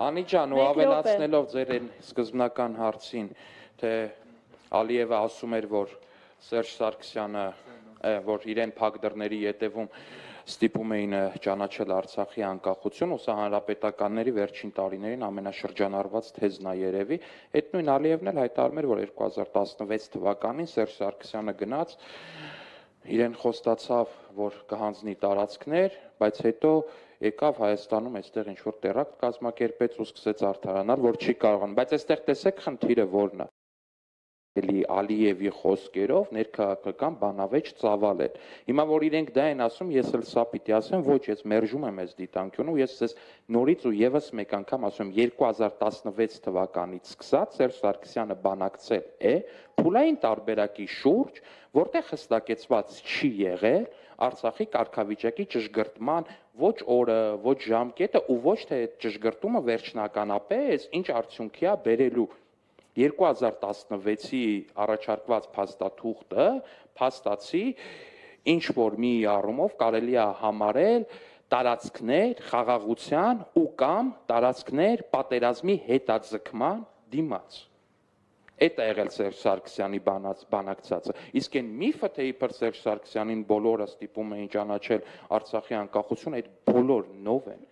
Անի ջան, ու ավելացնելով ձեր այն սկզբնական հարցին, թե Ալիևը ասում էր, որ Սերժ Սարգսյանը, որ իրեն փակ դռների ետևում ստիպում էին ճանաչել Արցախի անկախություն, ու սա հանրապետականների վերջին տարիներին ամենաշրջանառված թեզն է երևի, այդ նույն Ալիևն էլ հայտարարում էր, որ 2016 թվականին Սերժ Սարգսյանը գնաց, իրեն խոստացավ, որ կհանձնի տարածքներ, բայց հետո եկավ Հայաստանում այստեղ ինչ-որ տերակտ կազմակերպեց ու սկսեց արդարանալ, որ չի կարողանում, բայց այստեղ տեսեք խնդիրը որն է։ Ալիևի խոսքերով ներքաղաքական բանավեճ ծավալել։ Հիմա որ իրենք դա են ասում, ես էլ սա պիտի ասեմ, ոչ, ես մերժում եմ այս դիտանկյունը, ես ձեզ նորից ու եւս մեկ անգամ ասում եմ, 2016 թվականից սկսած Սերժ Սարգսյանը բանակցել է փուլային տարբերակի շուրջ, որտեղ հստակեցված չի եղել Արցախի կարգավիճակի ճշգրտման ոչ օրը, ոչ ժամկետը ու ոչ թե այդ ճշգրտումը վերջնականապես ինչ արդյունքի է բերելու 2016-ի առաջարկված փաստաթուղթը փաստացի ինչ որ մի առումով կարելի է համարել տարածքներ խաղաղության ու կամ տարածքներ պատերազմի հետաձգման դիմաց։ Այդ է եղել Սերժ Սարգսյանի բանակցածը։ Իսկ այն միֆը, թե իբր Սերժ Սարգսյանին բոլորը ստիպում էին ճանաչել Արցախի անկախություն, այդ բոլոր նով են,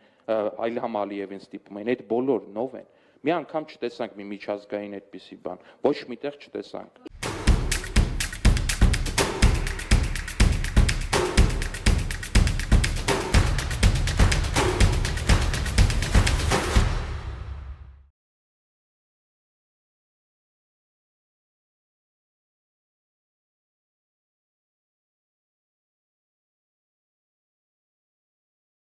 Իլհամ Ալիևին ստիպում էին, այդ բոլոր նով են։ Մի անգամ չտեսանք մի միջազգային այդպիսի բան, ոչ միտեղ չտեսանք։